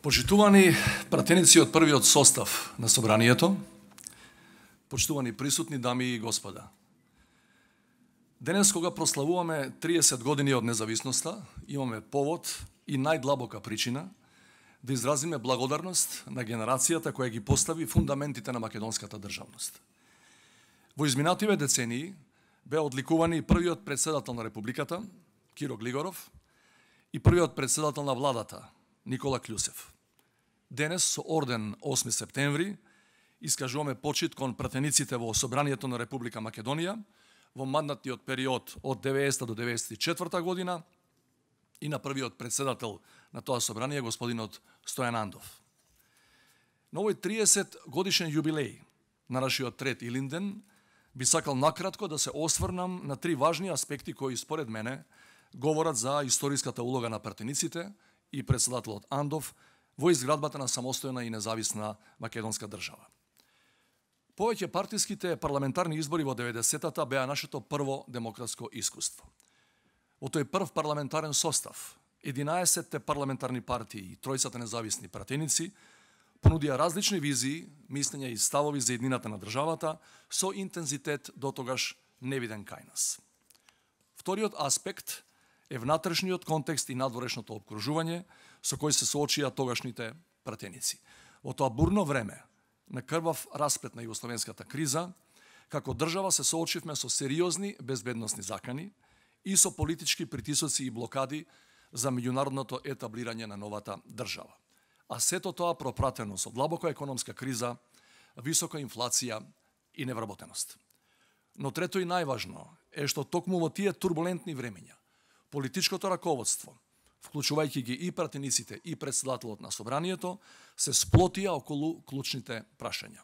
Почитувани пратеници од првиот состав на Собранието, почитувани присутни дами и господа. Денес, кога прославуваме 30 години од независноста, имаме повод и најдлабока причина да изразиме благодарност на генерацијата која ги постави фундаментите на македонската државност. Во изминативе децении беа одликувани првиот претседател на Републиката, Киро Глигоров, и првиот претседател на владата, Никола Клюсев. Денес, со орден 8 септември, искажуваме почит кон пратениците во Собранието на Република Македонија во мандатниот период од 90 до 94 година и на првиот претседател на тоа собрание, господинот Стојан Андов. На овој 30 годишен јубилеј на нашиот трет Илинден би сакал накратко да се осврнам на три важни аспекти кои според мене говорат за историската улога на пратениците и претседателот Андов во изградбата на самостојна и независна македонска држава. Повеќе партиските парламентарни избори во 90-та беа нашето прво демократско искуство. Во тој прв парламентарен состав, 11-те парламентарни партии и тројцата независни пратеници понудија различни визии, мислења и ставови за еднината на државата со интензитет дотогаш невиден кај нас. Вториот аспект е внатрешниот контекст и надворешното обкружување со кој се соочија тогашните пратеници. Во тоа бурно време на крвав расплет на југословенската криза, како држава се соочивме со сериозни безбедносни закани и со политички притисоци и блокади за меѓународното етаблирање на новата држава. А сето тоа пропратено со длабока економска криза, висока инфлација и невработеност. Но трето и најважно е што токму во тие турбулентни времења политичкото раководство, вклучувајќи ги и пратениците и претседателот на Собранието, се сплотија околу клучните прашања.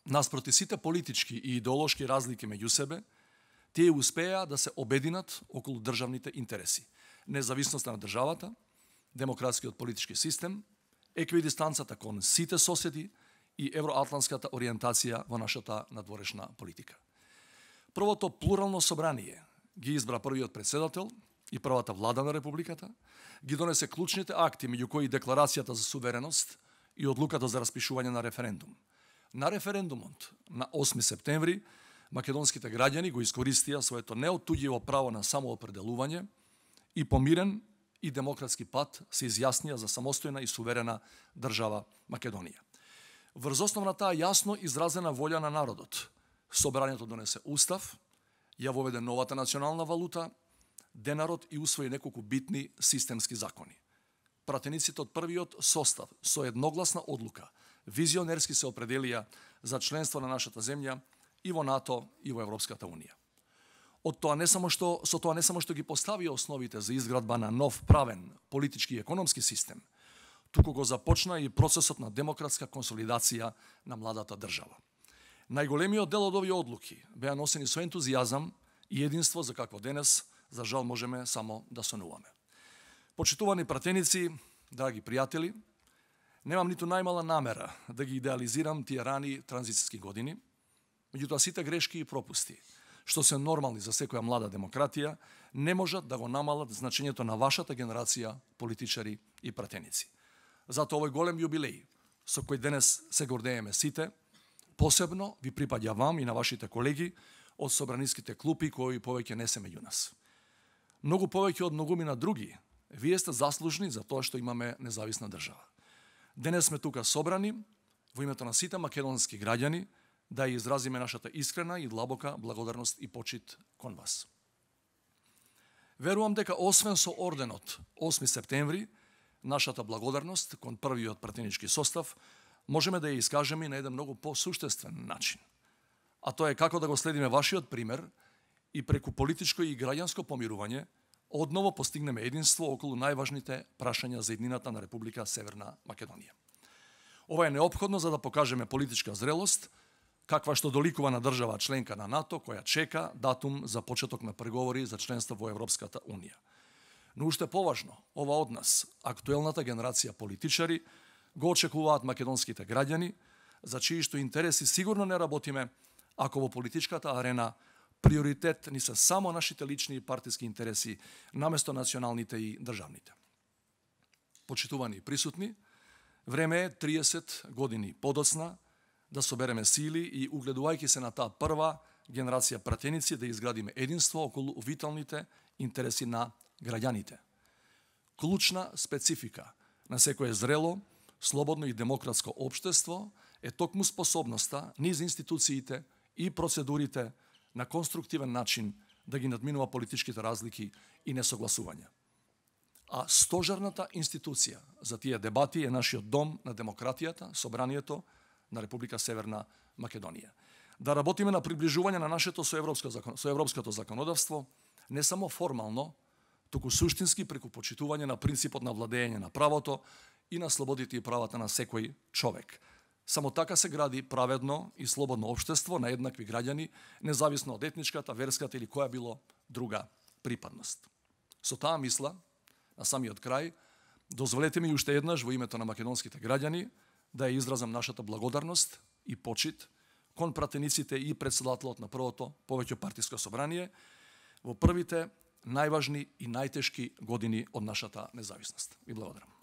Наспроти сите политички и идеолошки разлики меѓу себе, тие успеа да се обединат околу државните интереси, независноста на државата, демократскиот политички систем, еквидистанцата кон сите соседи и евроатлантската ориентација во нашата надворешна политика. Првото плурално собрание ги избра првиот претседател и првата влада на Републиката, ги донесе клучните акти, меѓу кои декларацијата за сувереност и одлуката за распишување на референдум. На референдумот на 8 септември македонските граѓани го искористија своето неоттуѓиво право на самоопределување и по мирен и демократски пат се изјаснија за самостојна и суверена држава Македонија. Врз основ на таа јасно изразена волја на народот, Собранието донесе устав, ја воведе новата национална валута, денарот и усвои неколку битни системски закони. Пратениците од првиот состав со едногласна одлука визионерски се определија за членство на нашата земја и во НАТО и во Европската унија. Со тоа не само што ги поставија основите за изградба на нов правен политички и економски систем, туку го започна и процесот на демократска консолидација на младата држава. Најголемиот дел од овие одлуки беа носени со ентузијазам и единство за какво денес, за жал, можеме само да сонуваме. Почитувани пратеници, драги пријатели, немам ниту најмала намера да ги идеализирам тие рани транзицијски години, меѓутоа сите грешки и пропусти, што се нормални за секоја млада демократија, не можат да го намалат значењето на вашата генерација политичари и пратеници. Затоа овој голем јубилеј, со кој денес се гордееме сите, посебно ви припаѓа вам и на вашите колеги од собраниските клупи кои повеќе не се меѓу нас. Многу повеќе од многумина други, вие сте заслужни за тоа што имаме независна држава. Денес сме тука собрани во името на сите македонски граѓани да ја изразиме нашата искрена и длабока благодарност и почит кон вас. Верувам дека освен со орденот 8 септември, нашата благодарност кон првиот пратенички состав можеме да ја искажеме на еден многу посуштествен начин. А тоа е како да го следиме вашиот пример и преку политичко и граѓанско помирување одново постигнеме единство околу најважните прашања за еднината на Република Северна Македонија. Ова е неопходно за да покажеме политичка зрелост, каква што доликува на држава членка на НАТО, која чека датум за почеток на преговори за членство во Европската унија. Но уште поважно, ова од нас, актуелната генерација политичари, го очекуваат македонските граѓани, за чии што интереси сигурно не работиме, ако во политичката арена приоритет ни се само нашите лични и партиски интереси, наместо националните и државните. Почитувани и присутни, Време е 30 години подоцна да собереме сили и угледувајќи се на таа прва генерација пратеници да изградиме единство околу виталните интереси на граѓаните. Клучна специфика на секое зрело, слободно и демократско општество е токму способноста низ институциите и процедурите на конструктивен начин да ги надминува политичките разлики и несогласувања. А стожерната институција за тие дебати е нашиот дом на демократијата, Собранието на Република Северна Македонија. Да работиме на приближување на нашето со европското законодавство, не само формално, туку суштински преку почитување на принципот на владење на правото и на слободите и правата на секој човек. Само така се гради праведно и слободно општество на еднакви граѓани, независно од етничката, верската или која било друга припадност. Со таа мисла, на самиот крај, дозволете ми уште еднаш во името на македонските граѓани да ја изразам нашата благодарност и почит кон пратениците и председателот на првото повеќе партиско собрание во првите најважни и најтешки години од нашата независност. Ви благодарам.